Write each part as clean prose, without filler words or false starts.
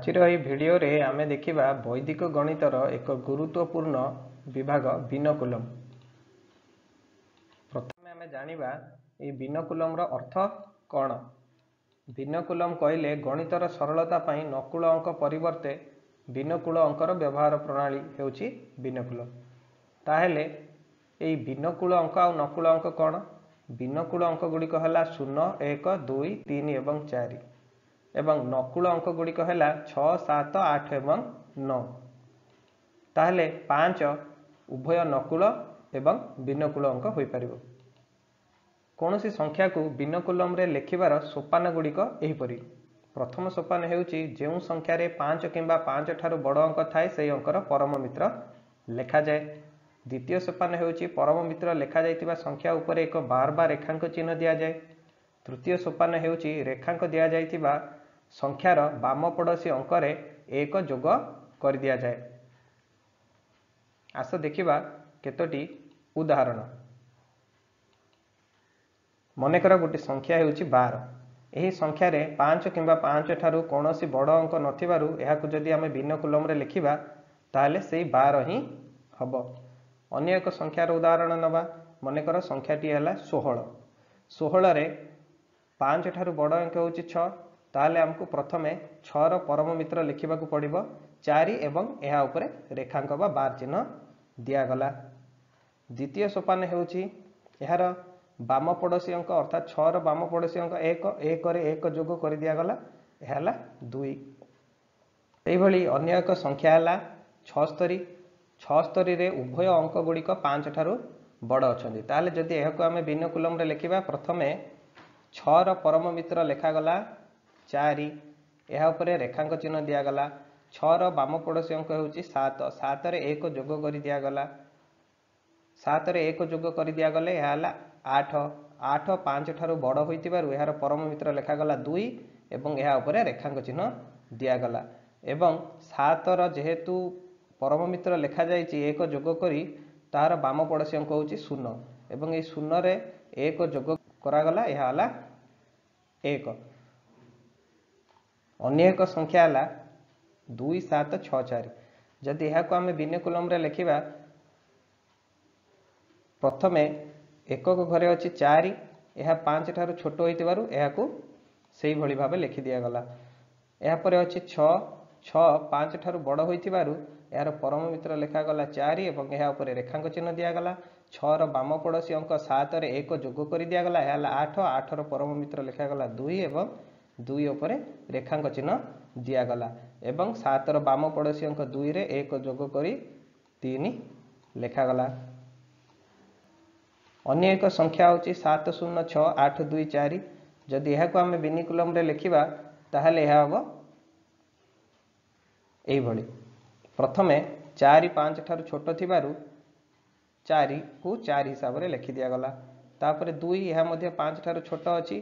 ଆଜିର ଏହି ଭିଡ଼ିଓରେ ଆମେ ଦେଖିବା ବୈଦିକ ଗଣିତର ଏକ ଗୁରୁତ୍ୱପୂର୍ଣ୍ଣ ବିଭାଗ ବିନକୁଲମ। ପ୍ରଥମେ ଆମେ ଜାଣିବା ଏହି ବିନକୁଲମର ଅର୍ଥ କ'ଣ। ବିନକୁଲମ କହିଲେ ଗଣିତର ସରଳତା ପାଇଁ ନକୁଳ ଅଙ୍କ ପରିବର୍ତ୍ତେ ବିନକୁଳ ଅଙ୍କର ବ୍ୟବହାର ପ୍ରଣାଳୀ ହେଉଛି ବିନକୁଲମ। ତାହେଲେ ଏହି ବିନକୁଳ ଅଙ୍କ ଆଉ ନକୁଳ ଅଙ୍କ କ'ଣ? ବିନକୁଳ ଅଙ୍କ ଗୁଡ଼ିକ ହେଲା 0, 1, 2, 3 ଏବଂ 4 ଏବଂ ନକୁଳ ଅଙ୍କ ଗୁଡ଼ିକ ହେଲା 6, 7, 8 ଏବଂ 9। ତାହେଲେ 5 ଉଭୟ ନକୁଳ ଏବଂ ବିନକୁଳ ଅଙ୍କ ହୋଇପାରିବ। କୌଣସି ସଂଖ୍ୟାକୁ ବିନକୁଲମରେ ଲେଖିବାର ସୋପାନ ଗୁଡ଼ିକ ଏହିପରି। ପ୍ରଥମ ସୋପାନ ହେଉଛି ଯେଉଁ ସଂଖ୍ୟାରେ 5 କିମ୍ବା 5 ଠାରୁ ବଡ଼ ଅଙ୍କ ଥାଏ ସେହି ଅଙ୍କର ପରମ ମିତ୍ର ଲେଖାଯାଏ। ଦ୍ୱିତୀୟ ସୋପାନ ହେଉଛି ପରମ ମିତ୍ର ଲେଖାଯାଇଥିବା ସଂଖ୍ୟା ଉପରେ ଏକ ବାର ବା ରେଖାଙ୍କ ଚିହ୍ନ ଦିଆଯାଏ। ତୃତୀୟ ସୋପାନ ହେଉଛି ରେଖାଙ୍କ ଦିଆଯାଇଥିବା ସଂଖ୍ୟାର ବାମ ପଡ଼ୋଶୀ ଅଙ୍କରେ 1 ଯୋଗ କରିଦିଆଯାଏ। ଆସ ଦେଖିବା କେତୋଟି ଉଦାହରଣ। ମନେକର ଗୋଟିଏ ସଂଖ୍ୟା ହେଉଛି 12। ଏହି ସଂଖ୍ୟାରେ 5 କିମ୍ବା 5 ଠାରୁ କୌଣସି ବଡ଼ ଅଙ୍କ ନଥିବାରୁ ଏହାକୁ ଯଦି ଆମେ ବିନକୁଲମରେ ଲେଖିବା ତାହେଲେ ସେଇ 12 ହିଁ ହେବ। ଅନ୍ୟ ଏକ ସଂଖ୍ୟାର ଉଦାହରଣ ନେବା। ମନେକର ସଂଖ୍ୟାଟି ହେଲା 16। 16ରେ 5 ଠାରୁ ବଡ଼ ଅଙ୍କ ହେଉଛି 6। ତାହେଲେ ଆମକୁ ପ୍ରଥମେ 6ର ପରମ ମିତ୍ର ଲେଖିବାକୁ ପଡ଼ିବ 4 ଏବଂ ଏହା ଉପରେ ରେଖାଙ୍କ ବା ବାର ଚିହ୍ନ ଦିଆଗଲା। ଦ୍ୱିତୀୟ ସୋପାନ ହେଉଛି ଏହାର ବାମ ପଡ଼ୋଶୀ ଅଙ୍କ ଅର୍ଥାତ୍ 6ର ବାମ ପଡ଼ୋଶୀ ଅଙ୍କ 1, 1ରେ 1 ଯୋଗ କରିଦିଆଗଲା, ଏହା ହେଲା 2। ସେହିଭଳି ଅନ୍ୟ ଏକ ସଂଖ୍ୟା ହେଲା 76। 76ରେ ଉଭୟ ଅଙ୍କ ଗୁଡ଼ିକ 5 ଠାରୁ ବଡ଼ ଅଛନ୍ତି। ତାହେଲେ ଯଦି ଏହାକୁ ଆମେ ବିନକୁଲମରେ ଲେଖିବା, ପ୍ରଥମେ 6ର ପରମ ମିତ୍ର ଲେଖାଗଲା 4, ଏହା ଉପରେ ରେଖାଙ୍କ ଚିହ୍ନ ଦିଆଗଲା। 6ର ବାମ ପଡ଼ୋଶୀ ଅଙ୍କ ହେଉଛି 7, 7ରେ 1 ଯୋଗ କରିଦିଆଗଲା। 7ରେ 1 ଯୋଗ କରିଦିଆଗଲେ ଏହା ହେଲା 8। 8 5 ଠାରୁ ବଡ଼ ହୋଇଥିବାରୁ ଏହାର ପରମ ମିତ୍ର ଲେଖାଗଲା 2 ଏବଂ ଏହା ଉପରେ ରେଖାଙ୍କ ଚିହ୍ନ ଦିଆଗଲା। ଏବଂ 7ର ଯେହେତୁ ପରମ ମିତ୍ର ଲେଖାଯାଇଛି 1 ଯୋଗ କରି, ତାହାର ବାମ ପଡ଼ୋଶୀ ଅଙ୍କ ହେଉଛି 0 ଏବଂ ଏହି 0ରେ 1 ଯୋଗ କରାଗଲା, ଏହା ହେଲା 1। ଅନ୍ୟ ଏକ ସଂଖ୍ୟା ହେଲା 2, 7, 6, 4। ଯଦି ଏହାକୁ ଆମେ ବିନକୁଲମରେ ଲେଖିବା, ପ୍ରଥମେ ଏକକ ଘରେ ଅଛି 4, ଏହା 5 ଠାରୁ ଛୋଟ ହୋଇଥିବାରୁ ଏହାକୁ ସେଇଭଳି ଭାବେ ଲେଖି ଦିଆଗଲା। ଏହାପରେ ଅଛି 6, 6 5 ଠାରୁ ବଡ଼ ହୋଇଥିବାରୁ ଏହାର ପରମ ମିତ୍ର ଲେଖାଗଲା 4 ଏବଂ ଏହା ଉପରେ ରେଖାଙ୍କ ଚିହ୍ନ ଦିଆଗଲା। 6ର ବାମ ପଡ଼ୋଶୀ ଅଙ୍କ 7ରେ 1 ଯୋଗ କରି ଦିଆଗଲା, ଏହା ହେଲା 8। 8ର ପରମ ମିତ୍ର ଲେଖାଗଲା 2 ଏବଂ 2 ଉପରେ ରେଖାଙ୍କ ଚିହ୍ନ ଦିଆଗଲା ଏବଂ 7ର ବାମ ପଡ଼ୋଶୀ ଅଙ୍କ 2ରେ 1 ଯୋଗ କରି 3 ଲେଖାଗଲା। ଅନ୍ୟ ଏକ ସଂଖ୍ୟା ହେଉଛି 7, 0, 6, 8, 2, 4। ଯଦି ଏହାକୁ ଆମେ ବିନିକୁଲମରେ ଲେଖିବା ତାହେଲେ ଏହା ହେବ ଏଇଭଳି। ପ୍ରଥମେ 4 5 ଠାରୁ ଛୋଟ ଥିବାରୁ 4କୁ 4 ହିସାବରେ ଲେଖି ଦିଆଗଲା। ତାପରେ 2, ଏହା ମଧ୍ୟ 5 ଠାରୁ ଛୋଟ ଅଛି,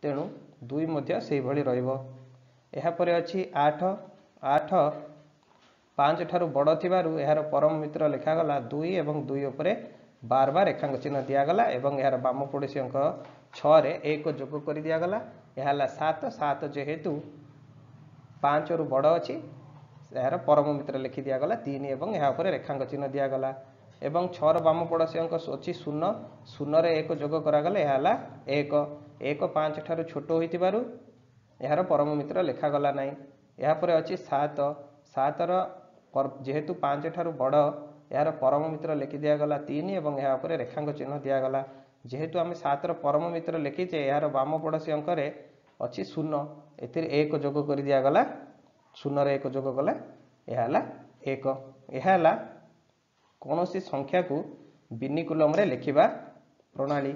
ତେଣୁ 2 ମଧ୍ୟ ସେଇଭଳି ରହିବ। ଏହାପରେ ଅଛି 8, 8 5 ଠାରୁ ବଡ଼ ଥିବାରୁ ଏହାର ପରମ ମିତ୍ର ଲେଖାଗଲା 2 ଏବଂ 2 ଉପରେ ବାର ବାର ରେଖାଙ୍କ ଚିହ୍ନ ଦିଆଗଲା ଏବଂ ଏହାର ବାମ ପଡ଼ୋଶୀ ଅଙ୍କ 6ରେ 1 ଯୋଗ କରି ଦିଆଗଲା, ଏହା ହେଲା 7। 7 ଯେହେତୁ 5ରୁ ବଡ଼ ଅଛି, ଏହାର ପରମ ମିତ୍ର ଲେଖି ଦିଆଗଲା 3 ଏବଂ ଏହା ଉପରେ ରେଖାଙ୍କ ଚିହ୍ନ ଦିଆଗଲା। ଏବଂ 6ର ବାମ ପଡ଼ୋଶୀ ଅଙ୍କ ଅଛି 0, 0ରେ 1 ଯୋଗ କରାଗଲେ ଏହା ହେଲା 1। 1 5 ଠାରୁ ଛୋଟ ହୋଇଥିବାରୁ ଏହାର ପରମ ମିତ୍ର ଲେଖାଗଲା ନାହିଁ। ଏହାପରେ ଅଛି 7, 7ର ଯେହେତୁ 5 ଠାରୁ ବଡ଼, ଏହାର ପରମ ମିତ୍ର ଲେଖି ଦିଆଗଲା 3 ଏବଂ ଏହା ଉପରେ ରେଖାଙ୍କ ଚିହ୍ନ ଦିଆଗଲା। ଯେହେତୁ ଆମେ 7ର ପରମ ମିତ୍ର ଲେଖିଛେ, ଏହାର ବାମ ପଡ଼ୋଶୀ ଅଙ୍କରେ ଅଛି 0, ଏଥିରେ 1 ଯୋଗ କରି ଦିଆଗଲା, 0ରେ 1 ଯୋଗ କଲେ ଏହା ହେଲା 1। ଏହା ହେଲା କୌଣସି ସଂଖ୍ୟାକୁ ବିନିକୁଲମରେ ଲେଖିବା ପ୍ରଣାଳୀ।